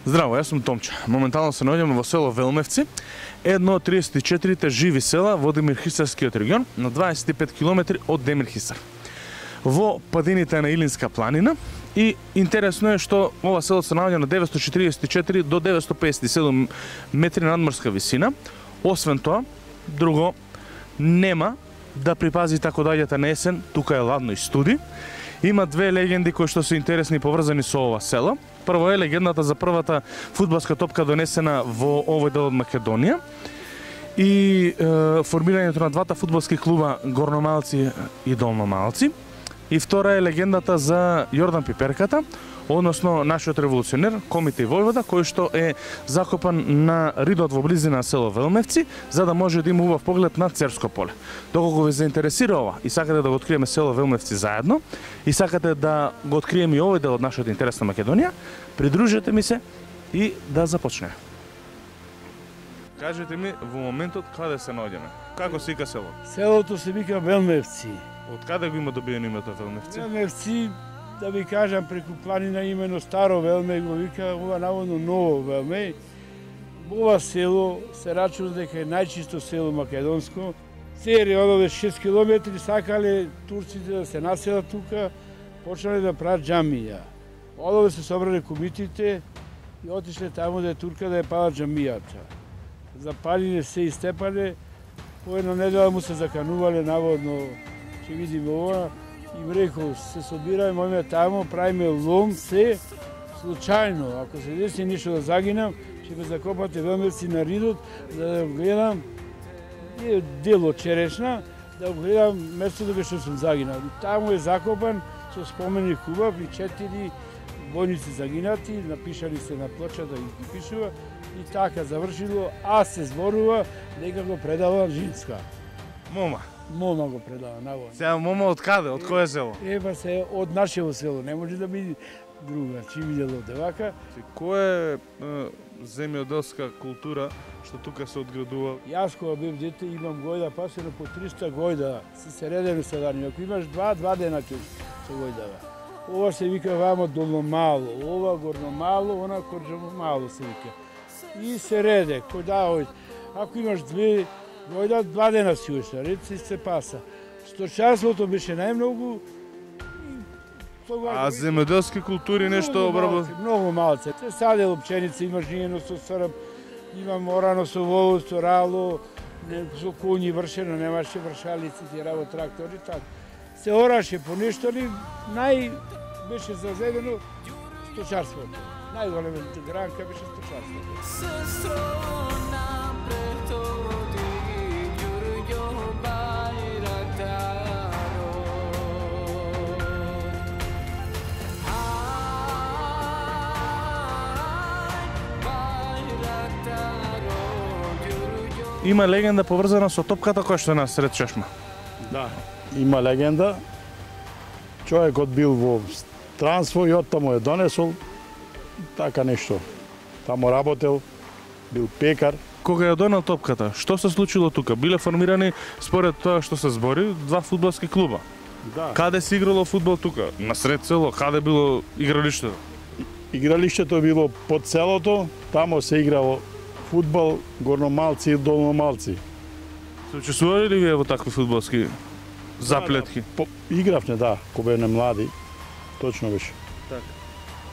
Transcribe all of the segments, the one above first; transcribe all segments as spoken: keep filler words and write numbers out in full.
Здраво, јас сум Томче. Моментално се наоѓаме во село Велмевци, едно од триесет и четирите живи села во Демирхисарскиот регион, на дваесет и пет километри од Демирхисар. Во падините на Илинска планина, и интересно е што ова село се наоѓа на деветстотини четиридесет и четири до деветстотини песет и седум метри надморска висина. Освен тоа, друго нема да припази тако доаѓате на есен, тука е ладно и студи. Има две легенди кои што се интересни и поврзани со ова село. Прво е легендата за првата фудбалска топка донесена во овој дел од Македонија и е, формирањето на двата фудбалски клуба Горномалци и Долномалци. И втора е легендата за Јордан Пиперката, односно нашиот револуционер Комите Војвода, кој што е закопан на ридот во близина на село Велмевци, за да може да има убав поглед на Церско поле. Доколку ви заинтересира ова и сакате да го откриеме село Велмевци заедно, и сакате да го откриеме и овој дел од нашата интересна Македонија, придружете ми се и да започнеме. Кажете ми во моментот каде се наоѓаме? Како се вика село? Селото се вика Велмевци. Од каде го има добиено името Велмевци? Велмевци, да ви кажам, преку планина имено Старо Велме го вика, ова наводно Ново Велме. Ова село се рачува дека е најчисто село македонско. Цели одове шест километри сакале турците да се населат тука, почнале да прават џамија. Одове се собрале комитите и отишле таму да е турка да ја палат џамијата. Запалиле се и степале, по една недела му се заканувале наводно, ќе видиме ова, и им рекол, се собираме, мојме тамо, правиме лом, се, случајно, ако се деси ништо да загинам, ќе ме закопате Велмевци на ридот, за да гледам, е дело черешна, да го гледам местото кај што сум загинал. Тамо е закопан со споменик убав и четири војници загинати, напишали се на плочата и ги пишува, и така завршило, а се зборува дека го предава Жинска. Мома. Мома го предава, наводно. Сега мома од каде? Од кое село? Ева се од нашето село, не може да биде друга, чи видело девака. Која е земјоделска култура што тука се одградува? Јас кога бев дете имам гојда пасено по триста гојда, се средено седани. Ако имаш два, два дена ќе се гојдава. Ова се вика вамо Долномало, ова Горномало, она Корџомало се вика. И се реде, кој да ој. Ако имаш две гојда, два дена си ушта, ред се се паса. Сточарството беше најмногу. А земјоделски култури нешто обработ? Многу малце. Се садело пченица, има жиено со срб, има морано со волос, со рало, со коњи вршено, немаше вршалици, ти раво трактори, така. Се ораше по нешто ли, нај беше зазедено сточарството. Најголемата гранка беше сточарството. Има легенда поврзана со топката која што е насред чешма. Да, има легенда. Човекот бил во странство и оттаму е донесол така нешто. Таму работел, бил пекар. Кога ја донел топката, што се случило тука? Биле формирани, според тоа што се збори, два фудбалски клуба. Да. Каде се играло фудбал тука? Насред село, каде било игралиштето? Игралиштето било под селото, тамо се играло фудбал, Горномалци и Долномалци. Се учествували ли вие во такви фудбалски заплетки? Да, да. Игравме, да, кога бевме млади, точно беше. Така.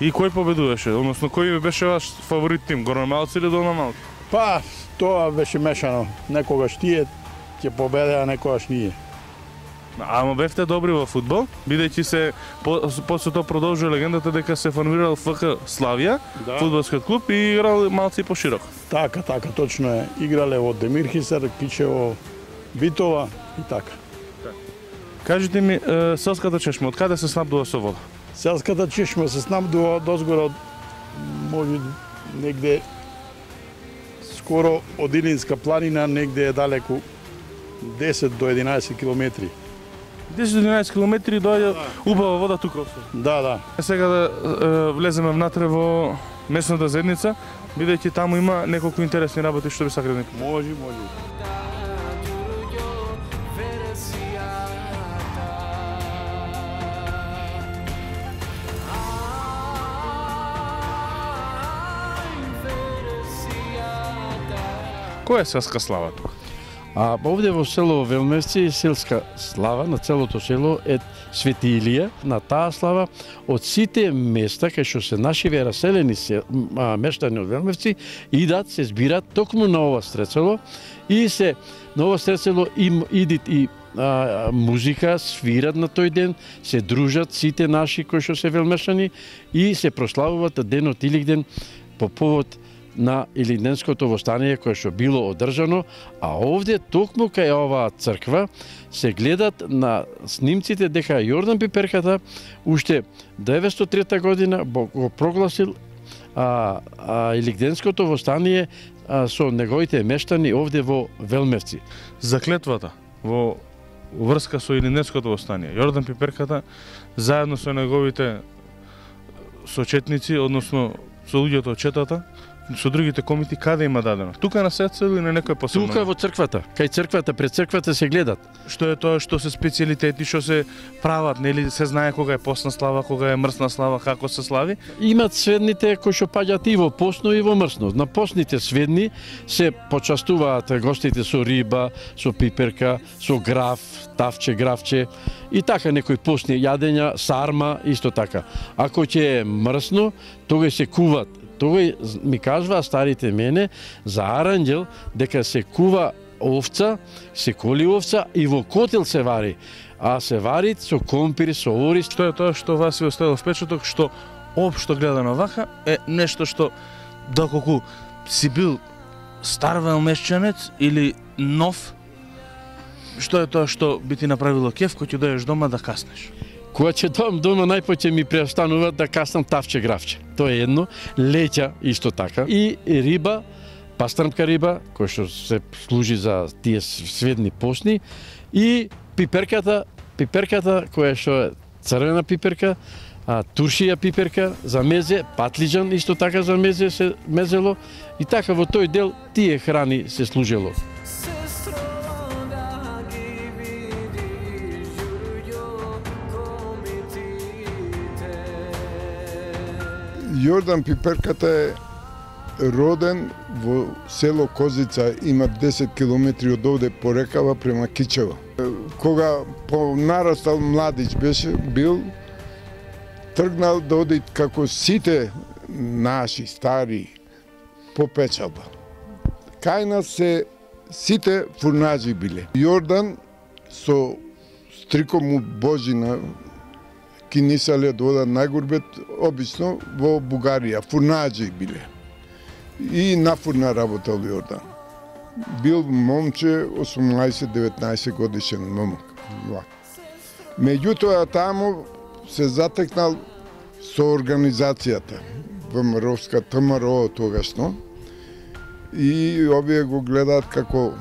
И кој победуваше? Односно, кој беше ваш фаворит тим, Горномалци или Долномалци? Па, тоа беше мешано. Некогаш тие ќе победеа, некогаш ние. Ама бевте добри во фудбал, бидејќи се по, после тоа продолжува легендата дека се формирал ФК Славија, да. Фудбалскиот клуб, и играл малци поширок. Така, така, точно е. Играле во Демирхисар, Кичево, Битола и така. така. Кажете ми, е, селската чешма, од каде се снабдува со вода? Селската чешма се снабдува дозгора од, може негде скоро од Илинска планина, негде е далеку десет до единаесет километри. десет до единаесет километри доаѓа да. Убава вода тука. Да, да. Сега да е, влеземе внатре во местната заедница, бидејќи таму има неколку интересни работи што би сакале да ни кажете. Може, може. Која е селска слава тука? А овде во село Велмевци селска слава на целото село е Свети Илија. На таа слава од сите места кај што се наши раселени мештани од Велмевци идат, се збират токму на ова стрецело и се на ова стрецело им идит и а, музика, свират на тој ден, се дружат сите наши кои што се велмешани и се прославуваат денот Илигден по повод на Илигденското востание кое што било одржано, а овде токму кај оваа црква се гледат на снимците дека Јордан Пиперката уште деветстотини и трета година го прогласил а, а, Илигденското востание а, со неговите мештани овде во Велмевци. Заклетвата во врска со Илигденското востание. Јордан Пиперката заедно со неговите сочетници, односно со луѓето од четата, со другите комити, каде има дадено? Тука на сецел или на некој посебно? Тука во црквата, кај црквата, пред црквата се гледат. Што е тоа што се специјалитети, што се прават, нели се знае кога е постна слава, кога е мрсна слава, како се слави? Имат сведните кои што паѓаат и во постно и во мрсно. На постните сведни се почастуваат гостите со риба, со пиперка, со граф, тавче, графче и така некои постни јадења, сарма, исто така. Ако ќе е мрсно, тогаш се куват. Тој ми кажува старите мене за аранџел дека се кува овца, се коли овца и во котел се вари, а се вари со компир, со ориз. Што е тоа што вас ви оставило впечаток, што општо гледано вака е нешто што доколку си бил стар велмешчанец или нов, што е тоа што би ти направило кеф кога ќе дојдеш дома да каснеш? Кога ќе дојдам дома, најпоќе ми преостанува да каснам тавче графче. Тоа е едно, леќа исто така и риба, пастрмка риба, која што се служи за тие сведни постни и пиперката, пиперката која што е црвена пиперка, а, туршија пиперка за мезе, патлиџан исто така за мезе се мезело и така во тој дел тие храни се служело. Јордан Пиперката е роден во село Козица, има десет километри од овде по рекава према Кичево. Кога понарастал младич беше, бил, тргнал да оди како сите наши стари по печалба. Кај нас се сите фурнаџи биле. Јордан со стриком му Божина кинисале да одат најгурбет, обично во Бугарија, фурнаџи биле. И на фурна работел Јордан. Бил момче осумнаесет-деветнаесет годишен момок. Меѓутоа таму се затекнал со организацијата ВМРО-вска ВМРО тогашно и овие го гледаат како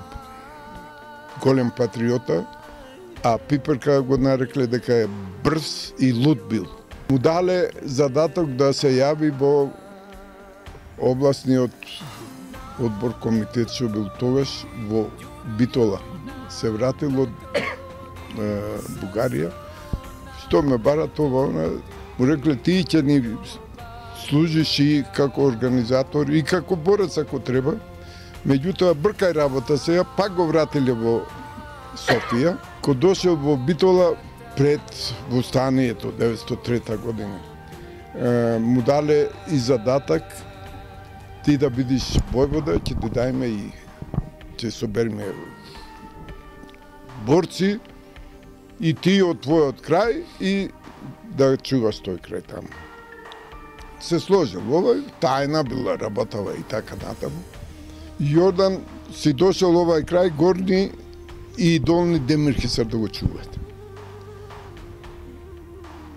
голем патриота, а Пиперка го нарекле дека е брз и луд бил. Му дале задаток да се јави во областниот одбор комитет што бил тогаш во Битола. Се вратил од е, Бугарија. Што ме бара тоа, му рекле ти ќе ни служиш и како организатор и како борец ако треба. Меѓутоа бркај работа сега, пак го вратиле во Софија. Ко дошел во Битола пред востанието деветстотини и трета година, е, му дале и задатак ти да бидиш војвода, ќе ти дајме и ќе собериме борци и ти од твојот крај и да чуваш тој крај таму. Се сложил овој, тајна била работава и така натаму. Јордан си дошел овај крај, горни и долни Демирхисар да го чуваат.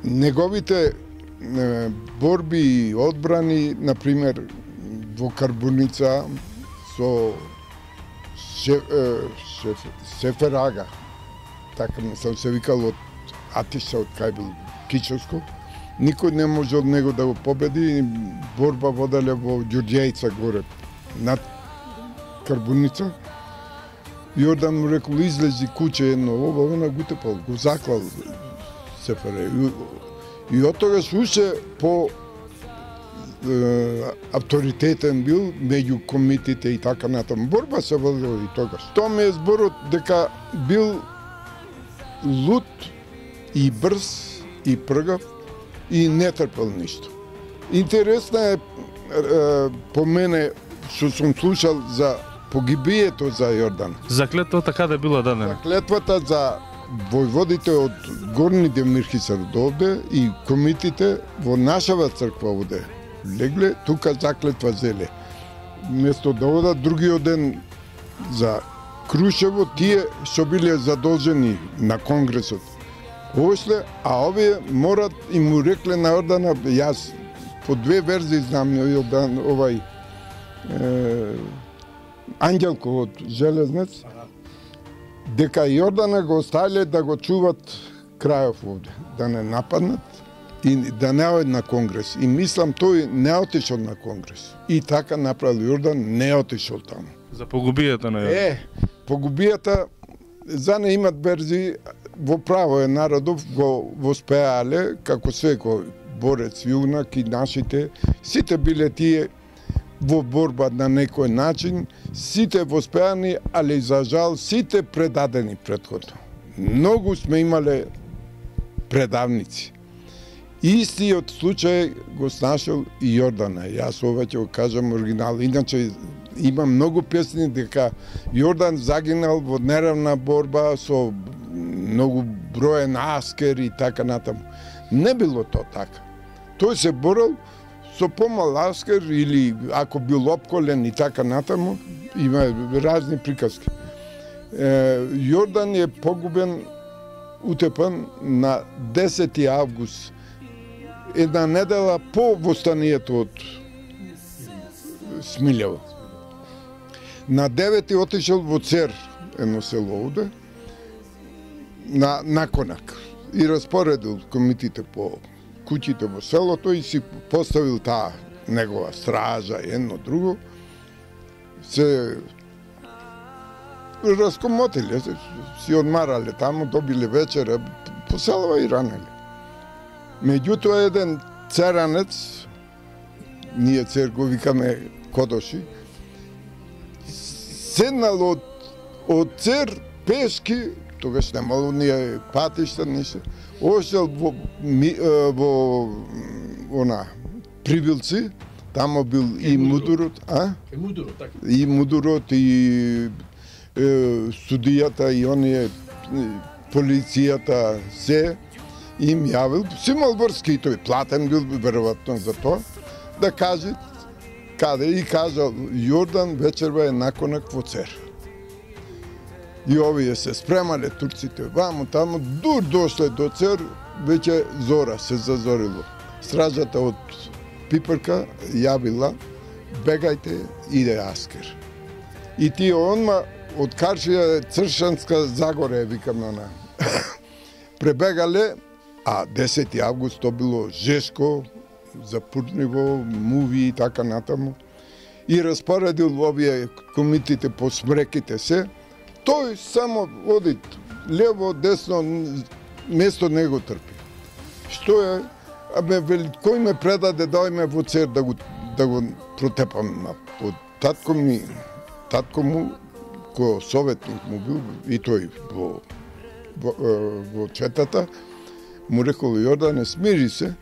Неговите е, борби и одбрани, например, во Карбуница со шеф, шеф, Сеферага, така не сам се викал од Атиша, од кај бил Кичовско, никој не може од него да го победи, борба воделе во Ѓурѓејца горе, над Карбуница. Јордан му рекол, излези куќе едно, ова, она го тепал, го заклал Сефере. И, и од тогаш уште по авторитетен бил меѓу комитите и така натаму. Борба се водила и тогаш. Тоа ми е зборот дека бил луд и брз и пргав и не трпел ништо. Интересно е, е по мене што сум слушал за погибието за Јордан. Заклетва така да било дадена. Заклетвата за војводите од Горни Демирхисар довде и комитите во нашава црква овде легле, тука заклетва зеле. Место да одат другиот ден за Крушево, тие што биле задолжени на Конгресот. Ошле, а овие морат и му рекле на Јордана, јас по две верзии знам Јордан, овај е, Ангелко од Железнец, дека Јордана го оставиле да го чуват крајов овде, да не нападнат и да не оди на Конгрес. И мислам тој не отишол на Конгрес. И така направил Јордан, не отишол таму. За погубијата на Јордан. Е, погубијата, за не имат верзии, во право е народов го воспеале, како секој борец јунак и нашите, сите биле тие во борба на некој начин, сите воспеани, али за жал сите предадени претходно. Многу сме имале предавници. Истиот случај го снашил и Јордана. Јас ова ќе го кажам оригинал. Иначе има многу песни дека Јордан загинал во неравна борба со многу броен аскер и така натаму. Не било то така. Тој се борил со помал аскер или ако бил опколен и така натаму, има разни приказки. Е, Јордан е погубен, утепан на десети август, една недела по востанието од Смилјево. На девети отишел во Цер, едно село овде, на наконак и распоредил комитите по куќите во селото и си поставил таа негова стража и едно друго. Се раскомотиле, си одмарале таму, добиле вечера, по селова и ранеле. Меѓутоа еден церанец, ние Цер го викаме Кодоши, седнал од, од Цер пешки, тогаш немало ние патишта, ништо, ошел во, во она, Прибилци, тамо бил и, и Мудурот, а? И Мудурот, така. И Мудурот, и е, судијата, и оние, полицијата, се, им јавил, си имал врски и тој платен бил веројатно за тоа, да каже каде и кажал Јордан вечерва е наконак во Цер. И овие се спремале турците ваму таму, дур дошле до Цер, веќе зора се зазорило. Стражата од Пипрка јавила, бегајте, иде аскер. И тие онма од Каршија Цршанска Загоре, викаме она, пребегале, а десети август то било жешко, запурниво, муви и така натаму. И распоредил овие комитите по смреките се, тој само оди лево, десно, место не го трпи. Што е? Абе, вели, кој ме предаде да ојме во Цер да го, да го протепам. Од татко ми, татко му, кој советник му бил, и тој во, во, во четата, му рекол Јордане, смири се,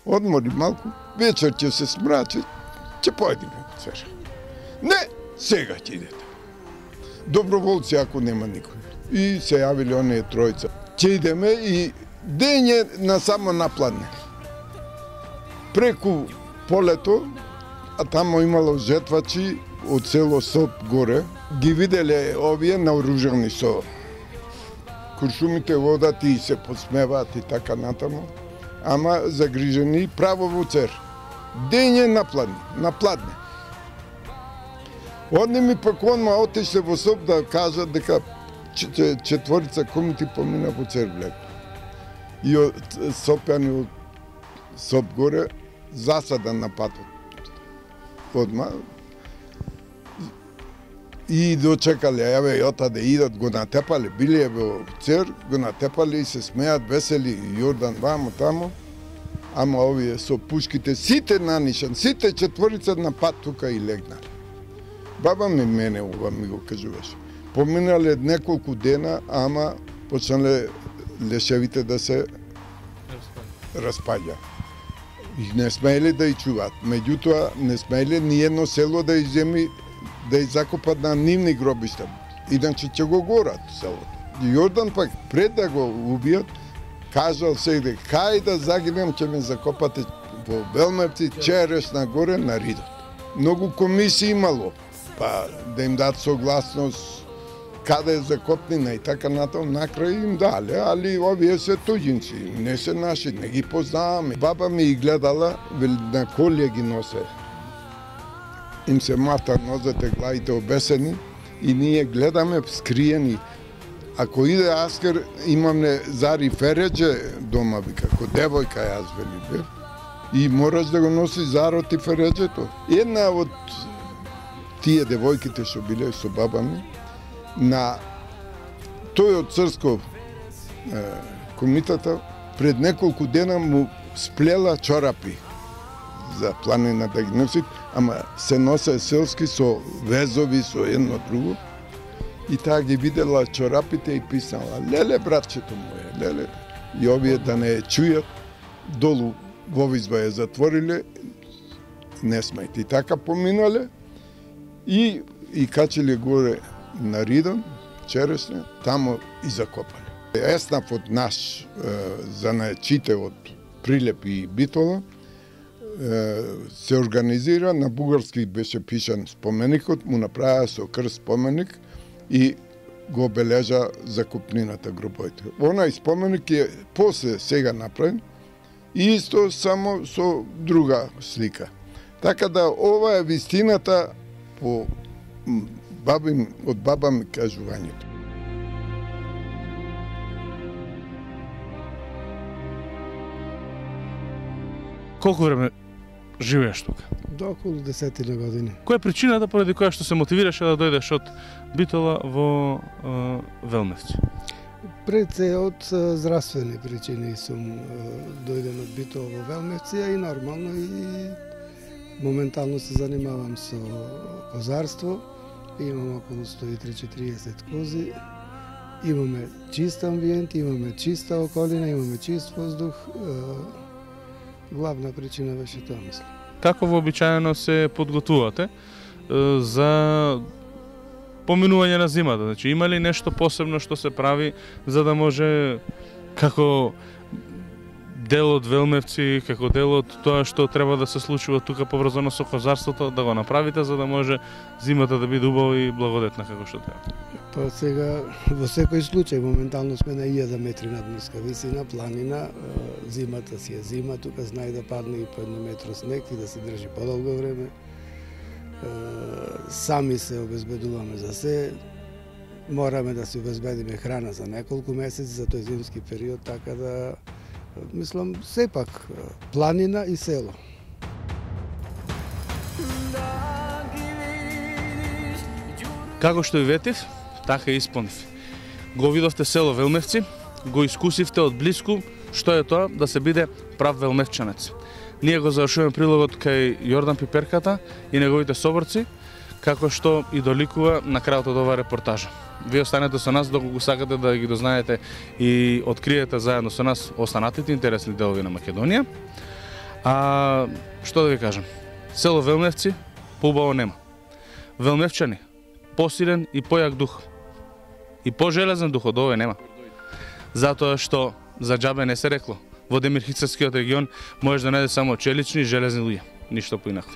одмори малку, вечер ќе се смрачи, ќе појдеме во Цер. Не, сега ќе идете. Доброволци ако нема никој. И се јавили оние тројца. Ќе идеме и дење на само напладне. Преку полето, а тамо имало жетвачи од село Соп горе, ги виделе овие наоружени со куршумите водат и се посмеваат и така натаму, ама загрижени право во Цер. Дење напладне, напладне. Одни ми пак онма отишле во Соп да кажат дека четворица комити помина во Цер влег. И од Сопјани од Соп горе засадан на патот. Одма и дочекале, еве, јота да идат, го натепале, биле во Цер, го натепале и се смеат, весели, Јордан вамо, тамо, ама овие со пушките, сите нанишан, сите четворица на пат тука и легнале. Баба ми мене ова ми го кажуваше. Поминале неколку дена, ама почнале лешевите да се распаѓа. И не смееле да ја чуваат. Меѓутоа, не смееле ни едно село да ја земи, да ја закопат на нивни гробишта. Иначе ќе го горат селото. Јордан пак, пред да го убијат, кажал се дека кај да загинем, ќе ме закопате во Велмевци, Черешна горе на Ридот. Многу комисии имало, па да им дадат согласност каде е закопнина и така натаму, накрај им дале, али овие се туѓинци, не се наши, не ги познаваме. Баба ми ги гледала, вели на колје ги носе. Им се мата нозете, главите обесени и ние гледаме скриени. Ако иде аскер, имаме Зари Фереџе дома, вика, ко девојка јас вели бев. И мораш да го носи Зарот и Фереџето. Една од тие девојките што биле со баба ми, на тој од Црско е, комитета, пред неколку дена му сплела чорапи за планина да ги носи, ама се носе селски со везови, со едно друго. И таа ги видела чорапите и писала: леле, братчето моје, леле. И овие да не чујат, долу во изба ја затвориле, не смејте. И така поминале и, и качиле горе на Ридон, Черешня, тамо и закопале. Еснав од наш занаечите од Прилеп и Битола се организира, на бугарски беше пишан споменикот, му направија со крст споменик и го обележа закупнината групоите. Онај споменик е после сега направен и исто само со друга слика. Така да ова е вистината по баби, од баба ми кажувањето. Колку време живееш тука? До околу десетина години. Која е причината поради која што се мотивираше да дојдеш од Битола во е, Велмевци? Пред се од здравствени причини сум дојден од Битола во Велмевци, и нормално и моментално се занимавам со козарство. Имам околу сто и триесет до четириесет кози. Имаме чист амбиент, имаме чиста околина, имаме чист воздух. Главна причина беше тоа, мислам. Како вообичаено се подготвувате е, за поминување на зимата? Значи, има ли нешто посебно што се прави за да може, како дел од Велмевци, како дел од тоа што треба да се случува тука поврзано со козарството, да го направите за да може зимата да биде убава и благодетна како што треба? Па сега, во секој случај, моментално сме на илјада метри надморска висина, планина, зимата си е зима, тука знае да падне и по едно метро снег и да се држи подолго време. Сами се обезбедуваме за се, мораме да се обезбедиме храна за неколку месеци за тој зимски период, така да, мислам, сепак планина и село. Како што ви ветив, така и исполнив. Го видовте село Велмевци, го искусивте од блиску што е тоа да се биде прав велмевчанец. Ние го завршуваме прилогот кај Јордан Пиперката и неговите соборци, како што и доликува на крајот од оваа репортажа. Вие останете со нас доколку сакате да ги дознаете и откриете заедно со нас останатите интересни делови на Македонија. А што да ви кажам? Село Велмевци поубаво нема. Велмевчани посилен и појак дух. И пожелезен дух од овој нема. Затоа што за џабе не се рекло. Во Демирхицарскиот регион можеш да најдеш само челични и железни луѓе, ништо поинако.